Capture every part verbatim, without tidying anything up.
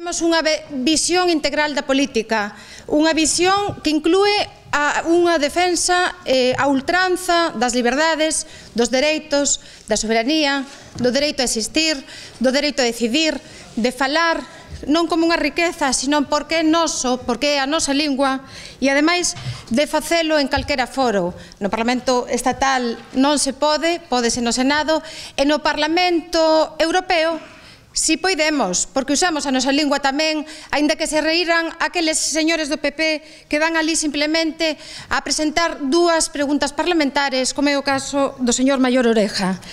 Temos unha visión integral da política, unha visión que inclúe a unha defensa eh, a ultranza das liberdades, dos dereitos, da soberanía, do dereito a existir, do dereito a decidir, de falar, non como unha riqueza, sino porque é noso, porque é a nosa lingua, e ademais de facelo en calquera foro. No Parlamento Estatal non se pode, pódese no Senado, e no Parlamento Europeo si poidemos, porque usamos a nosa lingua tamén, aínda que se reíran aqueles señores do P P que van ali simplemente a presentar dúas preguntas parlamentares, como é o caso do señor Maior Oreja.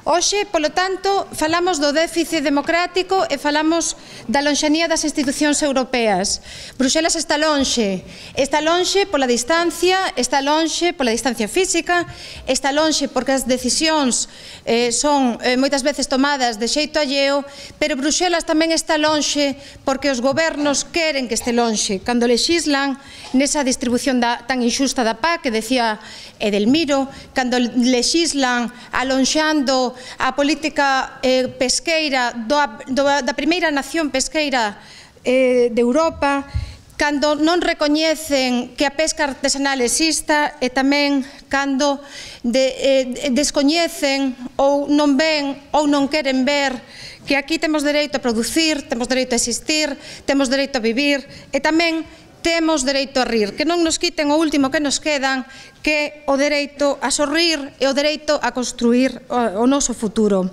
Hoxe, polo tanto, falamos do déficit democrático e falamos da lonxanía das institucións europeas. Bruxelas está lonxe, está lonxe pola distancia, está lonxe pola distancia física, está lonxe porque as decisións eh, son eh, moitas veces tomadas de xeito alleo, pero Bruxelas tamén está lonxe porque os gobernos queren que este lonxe. Cando lexislan nesa distribución da, tan inxusta da P A C, que decía Edelmiro, cando lexislan alonxando a política eh, pesqueira do, do, da primeira nación pesqueira eh, de Europa, cando non recoñecen que a pesca artesanal exista e tamén cando de, eh, descoñecen ou non ven ou non queren ver que aquí temos dereito a producir, temos dereito a existir, temos dereito a vivir e tamén temos dereito a rir, que non nos quiten o último que nos quedan, que é o dereito a sorrir e o dereito a construir o noso futuro.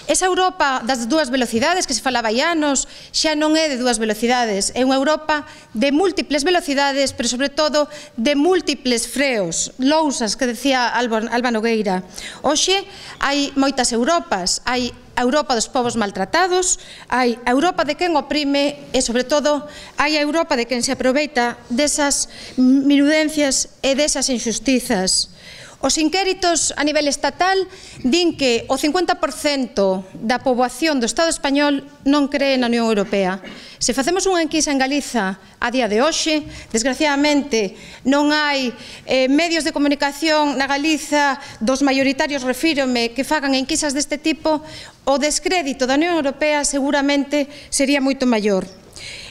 Esa Europa das dúas velocidades que se falaba hai anos xa non é de dúas velocidades, é unha Europa de múltiples velocidades, pero sobre todo de múltiples freos, lousas que decía Alba Nogueira. Hoxe hai moitas Europas, hai a Europa dos povos maltratados, hai a Europa de quen oprime e, sobre todo, hai a Europa de quen se aproveita desas minudencias e desas injustizas. Os inquéritos a nivel estatal din que o cincuenta por cento da poboación do Estado español non cree na Unión Europea. Se facemos unha enquisa en Galiza a día de hoxe, desgraciadamente non hai eh, medios de comunicación na Galiza dos maioritarios, refírome, que fagan enquisas deste tipo, o descrédito da Unión Europea seguramente sería moito maior.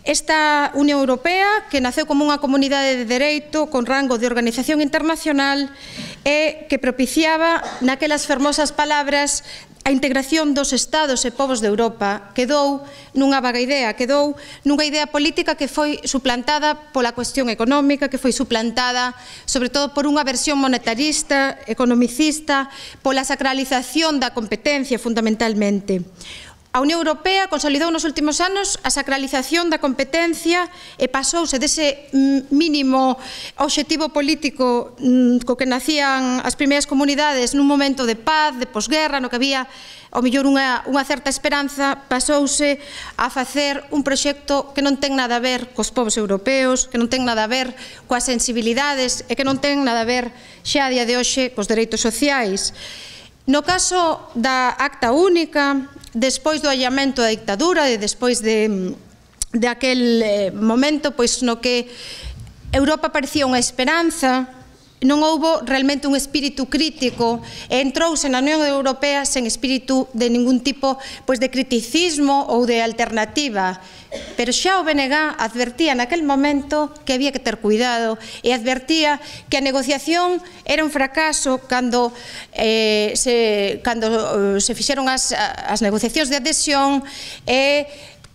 Esta Unión Europea, que naceu como unha comunidade de dereito con rango de organización internacional e que propiciaba naquelas fermosas palabras a integración dos Estados e povos de Europa, quedou nunha vaga idea, quedou nunha idea política que foi suplantada pola cuestión económica, que foi suplantada sobre todo por unha versión monetarista, economicista, pola sacralización da competencia fundamentalmente. A Unión Europea consolidou nos últimos anos a sacralización da competencia e pasouse dese mínimo obxectivo político co que nacían as primeiras comunidades nun momento de paz, de posguerra, no que había ao mellor unha, unha certa esperanza, pasouse a facer un proxecto que non ten nada a ver cos povos europeos, que non ten nada a ver coas sensibilidades e que non ten nada a ver xa a día de hoxe cos dereitos sociais. No caso da Acta Única, despois do allamento da dictadura e despois de, de aquel eh, momento pois no que Europa parecía unha esperanza, non houbo realmente un espírito crítico e entrouse na Unión Europea sen espírito de ningún tipo pois, de criticismo ou de alternativa. Pero xa o B N G advertía naquel momento que había que ter cuidado e advertía que a negociación era un fracaso cando, eh, se, cando eh, se fixeron as, as negociacións de adhesión e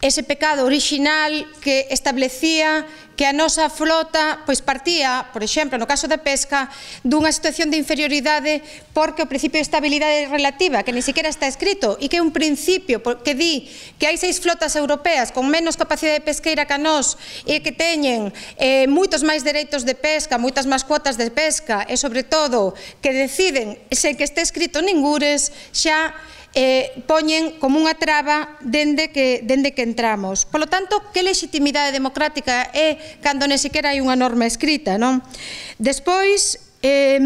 ese pecado orixinal que establecía que a nosa flota pois partía, por exemplo, no caso da pesca, dunha situación de inferioridade porque o principio de estabilidade relativa, que ni siquiera está escrito, e que é un principio que di que hai seis flotas europeas con menos capacidade pesqueira que a nós e que teñen eh, moitos máis dereitos de pesca, moitas máis cuotas de pesca e, sobre todo, que deciden, sen que este escrito ningures, xa Eh, poñen como unha traba dende que, dende que entramos. Por lo tanto, que legitimidade democrática é cando nem sequera hai unha norma escrita, non? Despois, eh,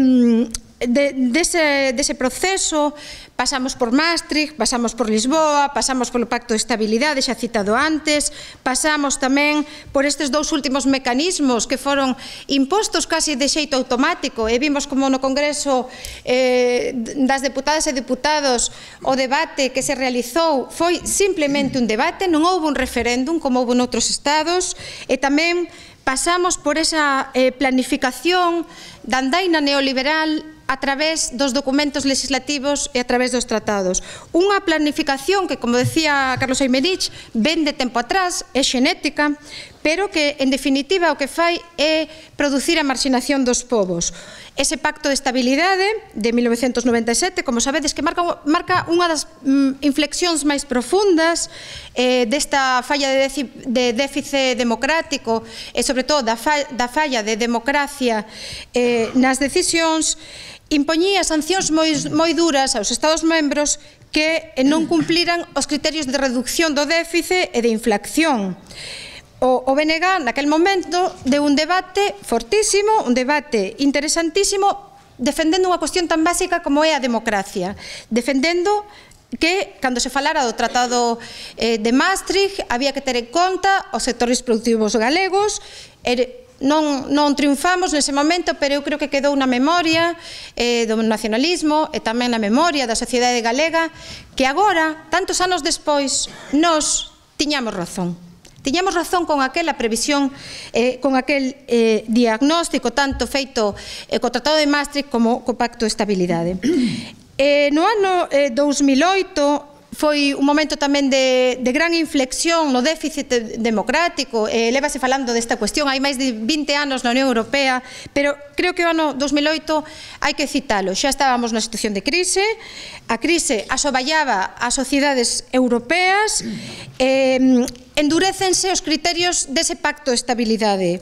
de, dese, dese proceso pasamos por Maastricht, pasamos por Lisboa, pasamos polo Pacto de Estabilidade, xa citado antes, pasamos tamén por estes dous últimos mecanismos que foron impostos casi de xeito automático, e vimos como no Congreso eh, das deputadas e deputados o debate que se realizou foi simplemente un debate, non houve un referéndum como houve noutros estados, e tamén pasamos por esa eh, planificación da andaina neoliberal a través dos documentos legislativos e a través dos tratados. Unha planificación que, como decía Carlos Aymerich, ven de tempo atrás, é xenética, pero que, en definitiva, o que fai é producir a marxinación dos povos. Ese pacto de estabilidade de mil novecentos noventa e sete, como sabedes, que marca, marca unha das mm, inflexións máis profundas eh, desta falla de, de déficit democrático e, sobre todo, da, fa da falla de democracia eh, nas decisións, impoñía sancións moi, moi duras aos Estados membros que non cumpliran os criterios de reducción do déficit e de inflación. O, o B N G, naquel momento, deu un debate fortísimo, un debate interesantísimo, defendendo unha cuestión tan básica como é a democracia, defendendo que, cando se falara do Tratado eh, de Maastricht, había que ter en conta os sectores productivos galegos. e, Non, non triunfamos nese momento, pero eu creo que quedou na memoria eh, do nacionalismo e tamén na memoria da sociedade galega que agora, tantos anos despois, nós tiñamos razón. Tiñamos razón con aquela previsión, eh, con aquel eh, diagnóstico tanto feito eh, co Tratado de Maastricht como co Pacto de Estabilidade. Eh, no ano eh, dous mil oito foi un momento tamén de, de gran inflexión no déficit democrático, eh, lévase falando desta cuestión hai máis de vinte anos na Unión Europea, pero creo que o ano dous mil oito hai que citalo, xa estábamos na situación de crise, a crise asoballaba as sociedades europeas, eh, endurécense os criterios dese pacto de estabilidade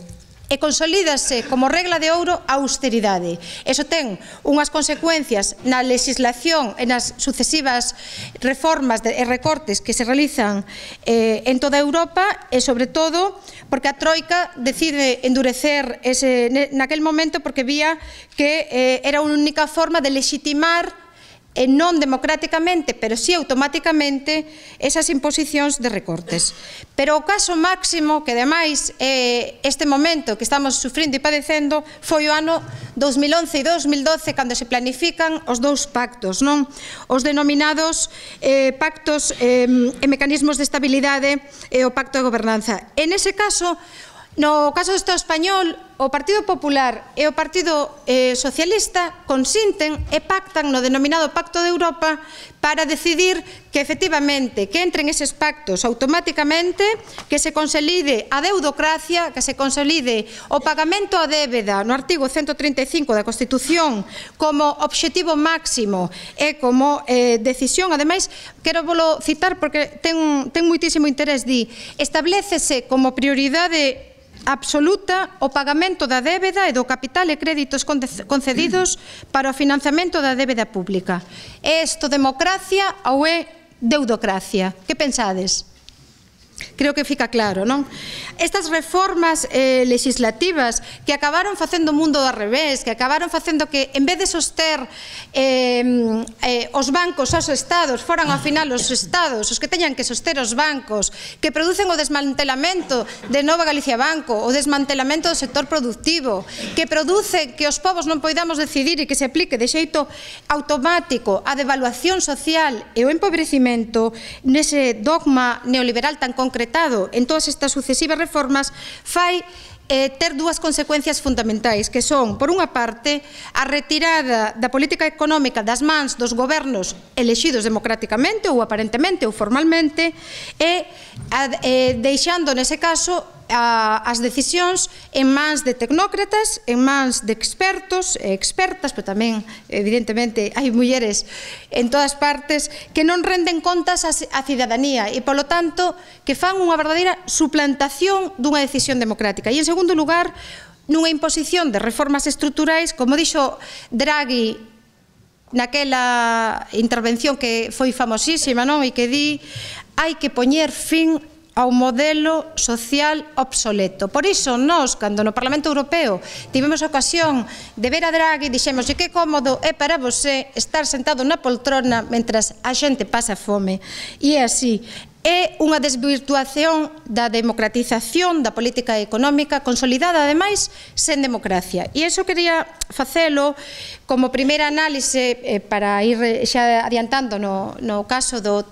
e consolídase como regla de ouro a austeridade. Eso ten unhas consecuencias na legislación e nas sucesivas reformas e recortes que se realizan eh, en toda Europa e, sobre todo, porque a Troika decide endurecer ese, naquel momento porque vía que eh, era unha única forma de legitimar e non democráticamente, pero sí automáticamente, esas imposicións de recortes. Pero o caso máximo, que ademais é este momento que estamos sufrindo e padecendo, foi o ano dous mil once e dous mil doce, cando se planifican os dous pactos, non? Os denominados eh, pactos eh, e mecanismos de estabilidade e o pacto de gobernanza. En ese caso, no caso do Estado español, o Partido Popular e o Partido eh, Socialista consinten e pactan no denominado Pacto de Europa para decidir que, efectivamente, que entren eses pactos automáticamente, que se consolide a deudocracia, que se consolide o pagamento a débeda no artigo ciento trinta e cinco da Constitución como obxectivo máximo e como eh, decisión. Ademais, quero volo citar porque ten, ten moitísimo interés, di, establécese como prioridade absoluta o pagamento da débeda e do capital e créditos concedidos para o financiamento da débeda pública. É isto democracia ou é deudocracia? Que pensades? Creo que fica claro, non? Estas reformas eh, legislativas que acabaron facendo o mundo ao revés, que acabaron facendo que, en vez de soster eh, eh, os bancos aos estados, foran ao final os estados os que teñan que soster os bancos, que producen o desmantelamento de Nova Galicia Banco, o desmantelamento do sector productivo, que produce que os povos non poidamos decidir e que se aplique de xeito automático a devaluación social e o empobrecimento nese dogma neoliberal tan concretado en todas estas sucesivas reformas, fai eh, ter dúas consecuencias fundamentais, que son, por unha parte, a retirada da política económica das mans dos gobernos elexidos democráticamente ou aparentemente ou formalmente e a, eh, deixando, nese caso, a, as decisións en mans de tecnócratas, en mans de expertos e expertas, pero tamén, evidentemente, hai mulleres en todas partes que non renden contas á cidadanía e, polo tanto, que fan unha verdadeira suplantación dunha decisión democrática. E, en segundo lugar, nunha imposición de reformas estruturais, como dixo Draghi naquela intervención que foi famosísima, non? E que di, hai que poñer fin ao modelo social obsoleto. Por iso, nós, cando no Parlamento Europeo tivemos a ocasión de ver a Draghi, dixemos que cómodo é para você estar sentado na poltrona mentras a xente pasa fome. E é así. É unha desvirtuación da democratización da política económica consolidada, ademais, sen democracia. E iso quería facelo como primeira análise para ir xa adiantando no, no caso do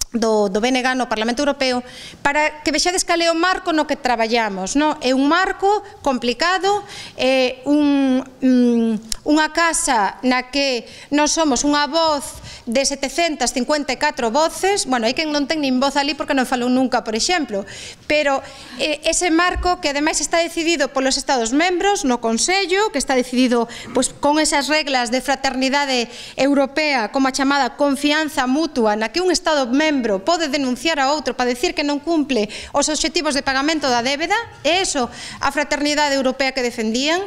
Do, do B N G no Parlamento Europeo, para que vexades cal é o marco no que traballamos, no? É un marco complicado, é un, um, unha casa na que nós somos unha voz de setecentas cincuenta e catro voces. Bueno, hai quen non ten nin voz ali porque non falou nunca, por exemplo, pero eh, ese marco que ademais está decidido polos Estados membros no Consello, que está decidido pois, con esas reglas de fraternidade europea, como a chamada confianza mutua, na que un Estado membro pode denunciar a outro para decir que non cumple os obxectivos de pagamento da débeda. É iso a fraternidade europea que defendían.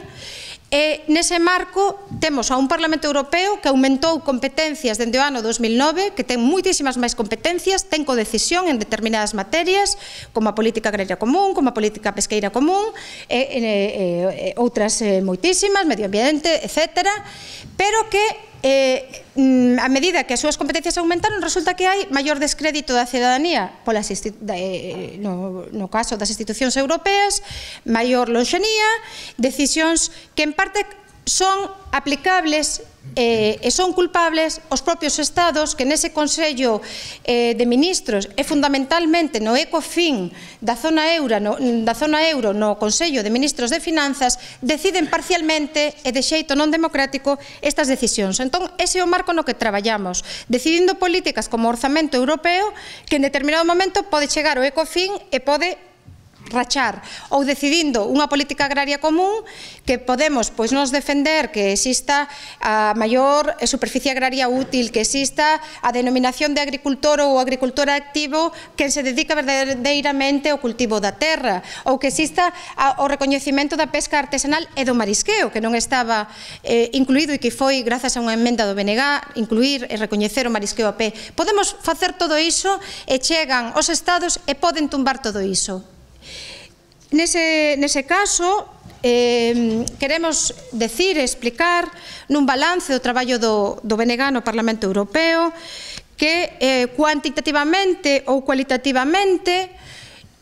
E nese marco temos a un Parlamento Europeo que aumentou competencias dende o ano dos mil nove, que ten moitísimas máis competencias, ten codecisión en determinadas materias, como a política agraria común, como a política pesqueira común, e, e, e outras e, moitísimas, medio ambiente, etcétera, pero que Eh, a medida que as súas competencias aumentaron, resulta que hai maior descrédito da cidadanía polas eh, no, no caso das institucións europeas, maior lonxanía, decisións que en parte son aplicables eh, e son culpables os propios Estados, que nese Consello eh, de Ministros e fundamentalmente no Ecofin da zona euro, no, da zona euro no Consello de Ministros de Finanzas, deciden parcialmente e de xeito non democrático estas decisións. Entón, ese é o marco no que traballamos, decidindo políticas como o orzamento europeo, que en determinado momento pode chegar ao Ecofin e pode rachar, ou decidindo unha política agraria común que podemos pois nos defender que exista a maior superficie agraria útil, que exista a denominación de agricultor ou agricultor activo que se dedica verdadeiramente ao cultivo da terra, ou que exista o recoñecemento da pesca artesanal e do marisqueo, que non estaba eh, incluído e que foi, grazas a unha emenda do B N G, incluir e recoñecer o marisqueo a pé. Podemos facer todo iso e chegan os Estados e poden tumbar todo iso. Nese, nese caso, eh, queremos decir e explicar nun balance do traballo do, do B N G no Parlamento Europeo que eh, cuantitativamente ou cualitativamente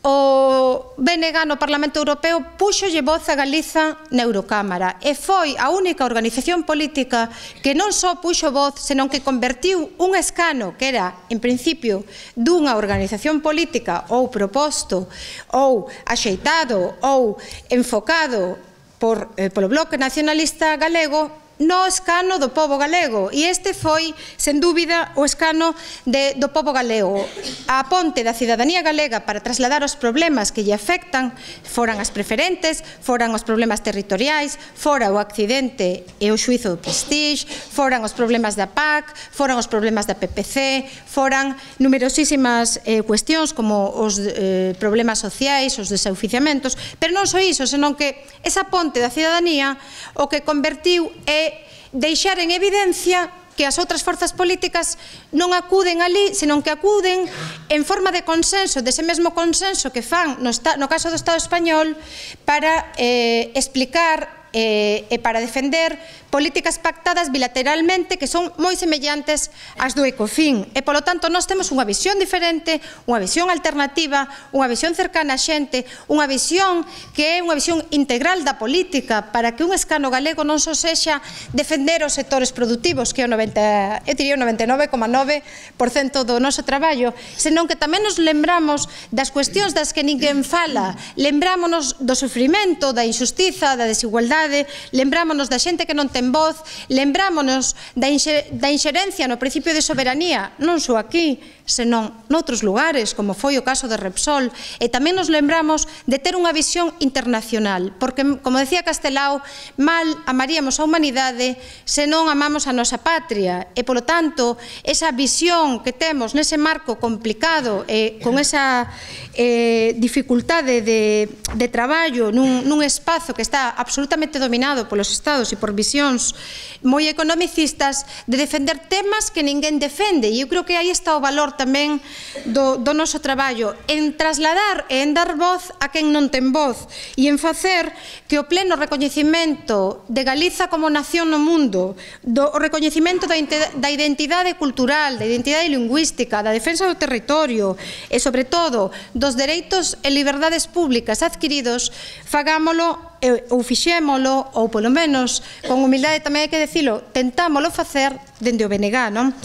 o B N G no Parlamento Europeo puxolle voz a Galiza na Eurocámara e foi a única organización política que non só puxo voz, senón que convertiu un escano que era, en principio, dunha organización política ou proposto ou axeitado ou enfocado por, eh, polo Bloque Nacionalista Galego no escano do pobo galego, e este foi, sen dúbida, o escano de, do pobo galego. A ponte da cidadanía galega para trasladar os problemas que lle afectan, foran as preferentes, foran os problemas territoriais, fora o accidente e o xuizo do Prestige, foran os problemas da P A C, foran os problemas da P P C, foran numerosísimas eh, cuestións como os eh, problemas sociais, os desoficiamentos, pero non só iso, senón que esa ponte da cidadanía o que convertiu é deixar en evidencia que as outras forzas políticas non acuden ali, senón que acuden en forma de consenso, dese mesmo consenso que fan no, no caso do Estado español para eh, explicar eh, e para defender políticas pactadas bilateralmente que son moi semellantes ás do Ecofin. E, polo tanto, nós temos unha visión diferente, unha visión alternativa, unha visión cercana á xente, unha visión que é unha visión integral da política para que un escano galego non só sexa defender os sectores productivos, que é o noventa, eu diría o noventa e nove coma nove por cento do noso traballo, senón que tamén nos lembramos das cuestións das que ninguén fala, lembrámonos do sufrimento, da injustiza, da desigualdade, lembrámonos da xente que non ten voz, lembrámonos da inxerencia no principio de soberanía, non só aquí, senón noutros lugares, como foi o caso de Repsol, e tamén nos lembramos de ter unha visión internacional, porque, como decía Castelao, mal amaríamos a humanidade se non amamos a nosa patria, e, polo tanto, esa visión que temos nese marco complicado e con esa eh, dificultade de, de traballo nun, nun espazo que está absolutamente dominado polos Estados e por visións moi economicistas, de defender temas que ninguén defende, e eu creo que aí está o valor tamén do, do noso traballo, en trasladar e en dar voz a quen non ten voz e en facer que o pleno recoñecimento de Galiza como nación no mundo, do recoñecimento da, da identidade cultural, da identidade lingüística, da defensa do territorio e, sobre todo, dos dereitos e liberdades públicas adquiridos, fagámolo ou fixémolo, ou polo menos, con humildade tamén hai que dicilo, tentámolo facer dende o B N G, non?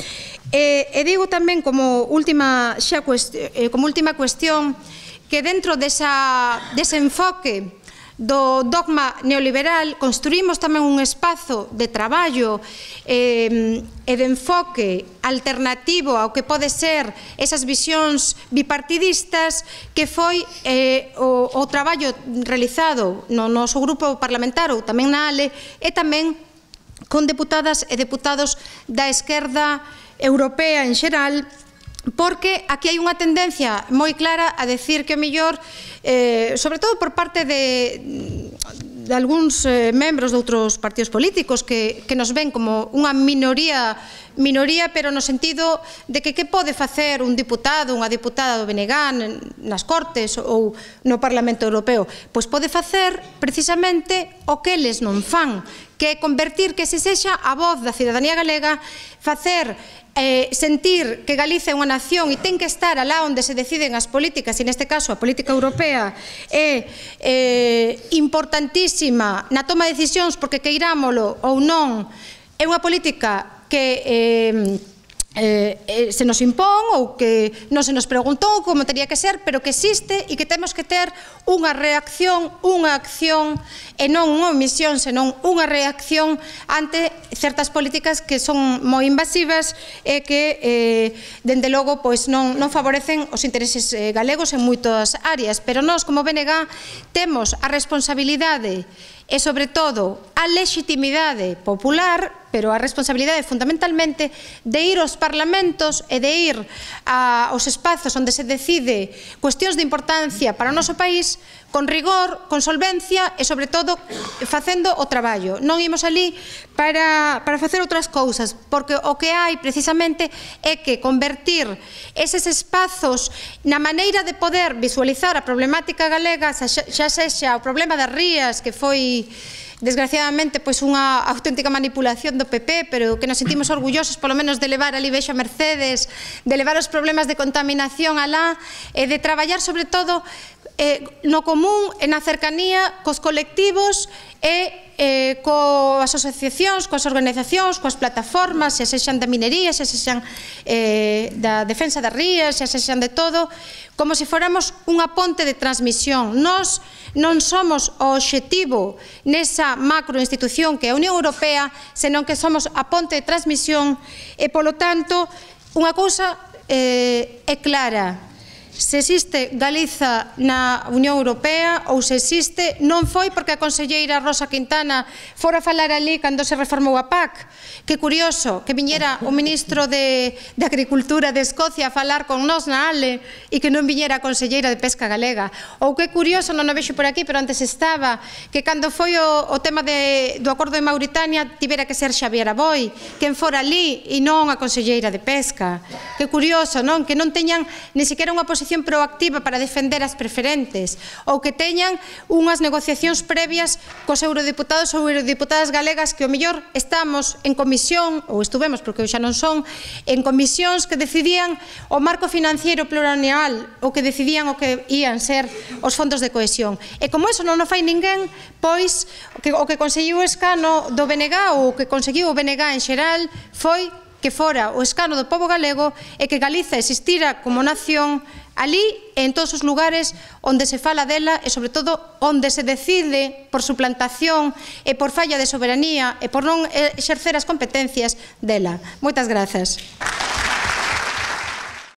E, e digo tamén como última, xa cuestión, como última cuestión que dentro desa, dese enfoque do dogma neoliberal construímos tamén un espazo de traballo eh, e de enfoque alternativo ao que pode ser esas visións bipartidistas que foi eh, o, o traballo realizado no noso grupo parlamentario, tamén na A L E, e tamén con deputadas e deputados da esquerda europea en xeral, porque aquí hai unha tendencia moi clara a decir que o mellor, eh, sobre todo por parte de, de algúns eh, membros de outros partidos políticos que, que nos ven como unha minoría, minoría, pero no sentido de que que pode facer un diputado, unha diputada do B N G nas Cortes ou no Parlamento Europeo? Pois pode facer precisamente o que eles non fan, que é convertir que se sexa a voz da cidadanía galega, facer Eh, sentir que Galiza é unha nación e ten que estar alá onde se deciden as políticas, e neste caso a política europea é eh, importantísima na toma de decisións, porque queirámolo ou non, é unha política que eh, Eh, eh, se nos impón ou que non se nos preguntou como teria que ser, pero que existe e que temos que ter unha reacción, unha acción e non unha omisión, senón unha reacción ante certas políticas que son moi invasivas e que, eh, dende logo, pois non, non favorecen os intereses eh, galegos en moitas áreas, pero nós como B N G temos a responsabilidade e, sobre todo, a legitimidade popular, pero a responsabilidade fundamentalmente de ir aos parlamentos e de ir aos espazos onde se decide cuestións de importancia para o noso país con rigor, con solvencia e, sobre todo, facendo o traballo. Non imos ali para, para facer outras cousas, porque o que hai precisamente é que convertir eses espazos na maneira de poder visualizar a problemática galega, xa sexa o problema das rías, que foi desgraciadamente pois unha auténtica manipulación do P P, pero que nos sentimos orgullosos polo menos de levar ali vexo a Mercedes, de levar os problemas de contaminación alá e de traballar sobre todo eh, no común e na cercanía cos colectivos e eh, coas asociacións, coas organizacións, coas plataformas, se sexan da minería, se sexan eh, da defensa das rías, se sexan de todo, como se fóramos unha ponte de transmisión. Nós non somos o obxectivo nesa macroinstitución que é a Unión Europea, senón que somos a ponte de transmisión e, polo tanto, unha cousa eh, é clara. Se existe Galiza na Unión Europea ou se existe, non foi porque a conselleira Rosa Quintana fora falar ali cando se reformou a P A C. Que curioso que viñera o ministro de, de Agricultura de Escocia a falar con nós na A L E e que non viñera a conselleira de Pesca Galega. Ou que curioso, non o vexo por aquí, pero antes estaba, que cando foi o, o tema de, do acordo de Mauritania tivera que ser Xavier Aboi quen fora ali e non a conselleira de Pesca. Que curioso, non? Que non teñan ni siquiera unha posición proactiva para defender as preferentes ou que teñan unhas negociacións previas cos eurodiputados ou eurodiputadas galegas que o mellor estamos en comisión ou estuvemos, porque xa non son, en comisións que decidían o marco financiero plurianual ou que decidían o que ían ser os fondos de cohesión. E como eso non o fai ninguén, pois o que conseguiu o escano do B N G ou o que conseguiu o B N G en xeral foi que fora o escano do pobo galego e que Galiza existira como nación ali en todos os lugares onde se fala dela e, sobre todo, onde se decide por suplantación e por falla de soberanía e por non exercer as competencias dela. Moitas grazas.